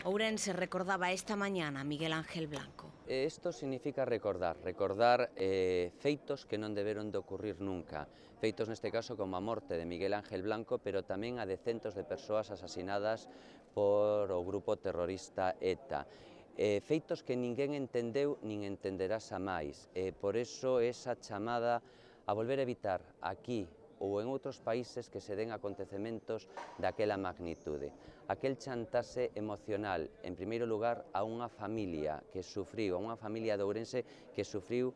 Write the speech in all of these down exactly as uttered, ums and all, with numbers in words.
Ourense recordaba esta mañana a Miguel Ángel Blanco. Isto significa recordar, recordar eh, feitos que non deberon de ocurrir nunca. Feitos neste caso como a morte de Miguel Ángel Blanco, pero tamén a de centos de persoas asasinadas por o grupo terrorista ETA. Eh, feitos que ninguén entendeu nin entenderá xa máis. Eh, por eso esa chamada a volver a evitar aquí ou en outros países que se den acontecementos daquela magnitude. Aquel chantaxe emocional, en primeiro lugar, a unha familia que sufriu, a unha familia de Ourense que sufriu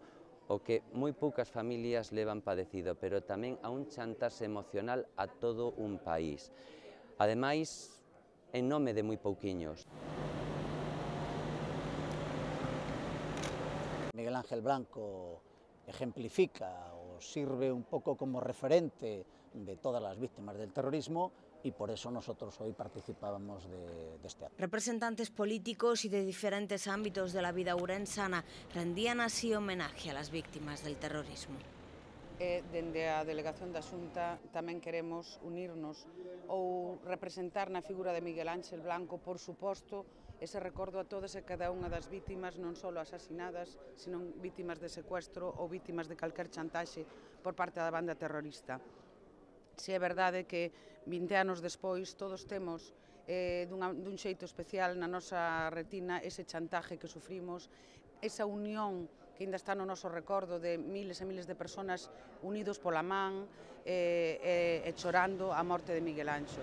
o que moi poucas familias levan padecido, pero tamén a un chantaxe emocional a todo un país. Ademais, en nome de moi pouquiños. Miguel Ángel Blanco ejemplifica o sirve un poco como referente de todas las víctimas del terrorismo y por eso nosotros hoy participábamos de, de este acto. Representantes políticos y de diferentes ámbitos de la vida ourensana rendían así homenaje a las víctimas del terrorismo. E, dende a Delegación da Xunta tamén queremos unirnos ou representar na figura de Miguel Ángel Blanco, por suposto, ese recordo a todas e cada unha das vítimas, non só asasinadas, sino vítimas de secuestro ou vítimas de calquer chantaxe por parte da banda terrorista. Se é verdade que vinte anos despois todos temos eh, dunha, dun xeito especial na nosa retina ese chantaje que sufrimos, esa unión que ainda está no noso recordo de miles e miles de persoas unidos pola man e, e, e chorando a morte de Miguel Anxo.